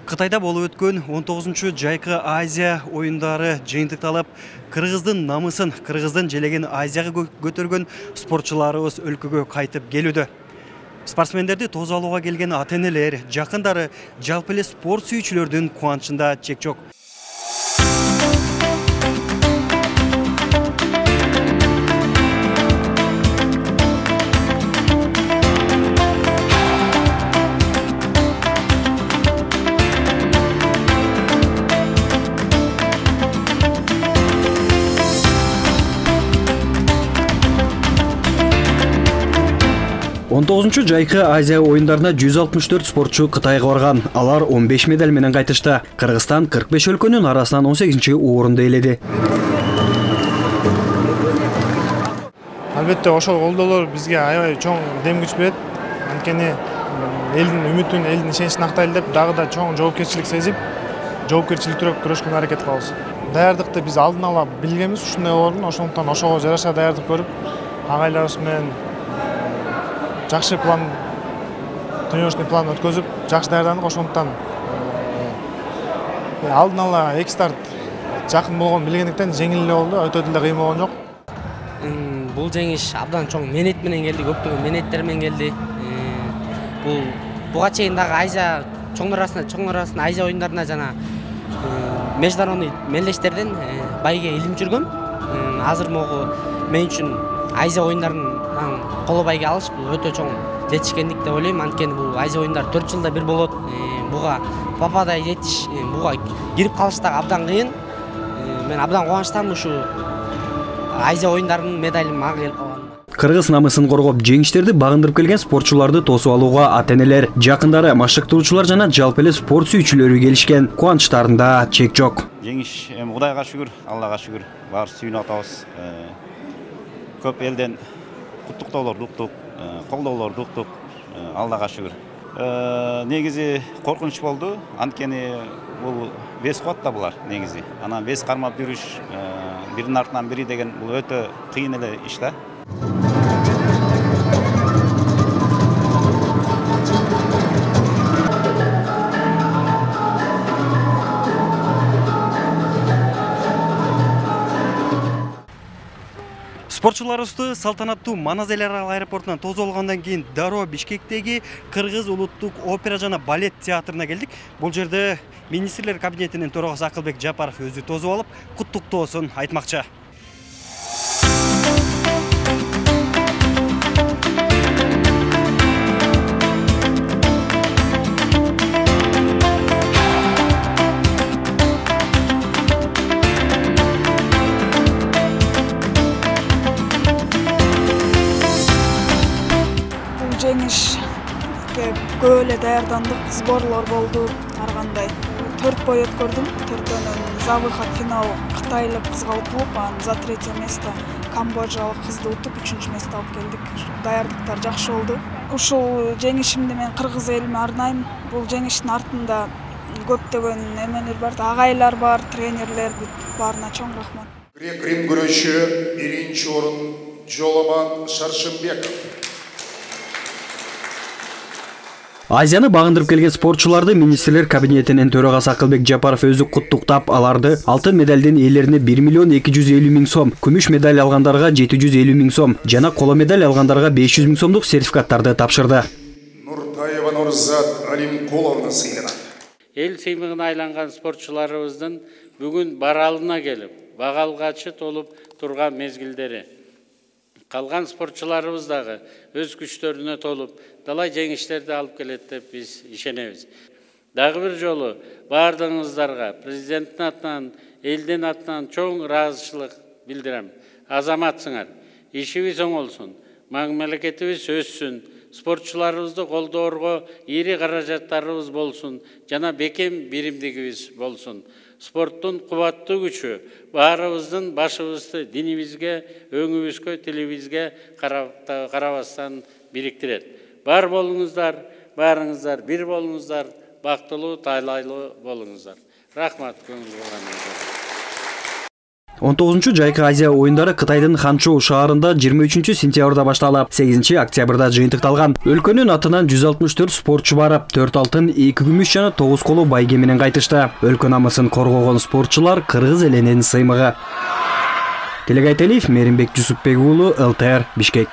Кытайда болуп өткөн 19-жайкы Азия оюндары жыйынтыкталып, Кыргыздын намысын, Кыргыздын желеген Азияга көтөргөн спортчуларыбыз өлкөгө кайтып келүүдө. Спортсмендерди тосуп алууга келген ата-энелер, жакындары, жалпы эле спорт сүйүүчүлөрдүн кубанычында чек жок. 19-жайкы Азия оюндарына 164 спортчу Кытайга барган. Алар 15 медаль менен кайтышты. Кыргызстан 45 өлкөнүн арасынан 18-орунду ээледи. Албетте ошол колдоолор бизге аябай чоң дем күч берет. Анткени элдин үмүтүн, элдин ишеничин актайлы деп, дагы да чоң жоопкерчилик сезип, жоопкерчиликтүүрөөк күрөшкөнгө аракет кылабыз. Даярдыкты биз алдын ала билгенбиз, ушундай болорун, ошондуктан ошого жараша даярдык көрүп, агайларыбыз менен жакшы план, тренировочный план өткөзүп, жакшы даярдандык. Ошондуктан алдын ала эки старт жакын болгон билгендиктен жеңил эле болду, өтө деле кыйын болгон жок. Бул жеңиш абдан чоң менет менен келди, көптөгөн менеттер менен келди. Буга чейин дагы Азия чоң арасында Азия оюндарына жана международный мелдештерден байге илим жүргөм. Азыр могу мен үчүн Азия оюндарынын коло байге алыш бул өтө чоң жетишкендик деп ойлойм. Анткени бул Азия оюндары 4 жылда бир болот. Буга пападай жетиш, буга кирип калыш дагы абдан кыйын. Мен абдан кубанычтамын ушу Азия оюндарынын медалим мага келип калганына. Кыргыз намысын коргоп, жеңиштерди багындырып келген спортчуларды тосуп алууга ата-энелер, жакындары, машыктоочулар жана жалпы эле спорт сүйүүчүлөрү келишкен. Кубанычтарында чек жок. Жеңиш Кудайга шүгүр, Аллага шүгүр. Баары сүйүнүп атабыз. Көп элден куттуктоолорду уктук, колдоолорду уктук. Аллага шүгүр. Негизи коркунуч болду. Анткени бул вес куат да булар негизи. Анан вес кармап жүрүш, биринин артынан бири деген бул өтө кыйын эле иш да. Спортчуларыбызды салтанаттуу Манас эл аралык аэропортунан тосуп алгандан кийин дароо Бишкектеги Кыргыз улуттук опера жана балет театрына келдик. Бул жерде министрлер кабинетинин төрагасы Акылбек Жапаров өзү тосуп алып, куттуктоосун айтмакчы. Жеңишке көп эле даярдандык, сборлор болду, ар кандай. 4 бой өткөрдүм. 4-өнөн за выход финал кытайлык кызга утулуп, анан за 3 место камбоджалык кызды утуп 3 место алып келдик. Даярдыктар жакшы болду. Ушул жеңишимди мен кыргыз элиме арнайм. Бул жеңиштин артында көптөгөн эмелер бар, агайлар бар, тренерлер, баарына чоң рахмат. Грек-рим күрөшү 1-орун Жоламан Шаршымбеков. Азияны багындырып келген спортчуларды министрлер кабинетинин төрагасы Акылбек Жапаров өзү куттуктап, аларды алтын медалдын ээлерине 1 миллион 250 миң сом, күмүш медаль алгандарга 750 миң сом жана коло медаль алгандарга 500 миң сомдук сертификаттарды тапшырды. Нуртаева Нурзат Алимкуловна сыйланат. Эл сыймыгына айланган спортчуларыбыздын бүгүн баралына келип, бага алгачы толуп турган мезгилдери. Калган спортчуларыбыз дагы өз күчтөрүнө толуп, далай жеңиштерди алып келет деп биз ишенебиз. Дагы бир жолу баардыгыңыздарга президенттин атынан, элдин атынан чоң ыраазычылык билдирем. Азаматсыңар, ишибиз оңолсун, мамлекетибиз өссүн, спортчуларыбызды колдоорго ири каражаттарыбыз болсун, жана бекем биримдигибиз болсун. Спорттун кубаттуу күчү баарыбыздын башыбызды динибизге, өңүбүзгө, тилибизге карабастан бириктирет. Бар болуңуздар, баарыңыздар бир болуңуздар, бактылуу, тайлайлуу болуңуздар. Рахмат көңүл бурганыңызга. 19 Жайкы Азия оюндары Кытайдын Ханчжоу шаарында 23 сентябрда башталып, 8 октябрда жыйынтыкталган. Өлкөнүн атынан 164 спортчу барып, 4 алтын, 2 күмүш жана 9 коло байге менен кайтышты. Өлкө намысын коргогон спортчулар кыргыз элинин сыймыгы. Телегайтелиев, Меримбек Жусупбек уулу, ЛТР, Бишкек.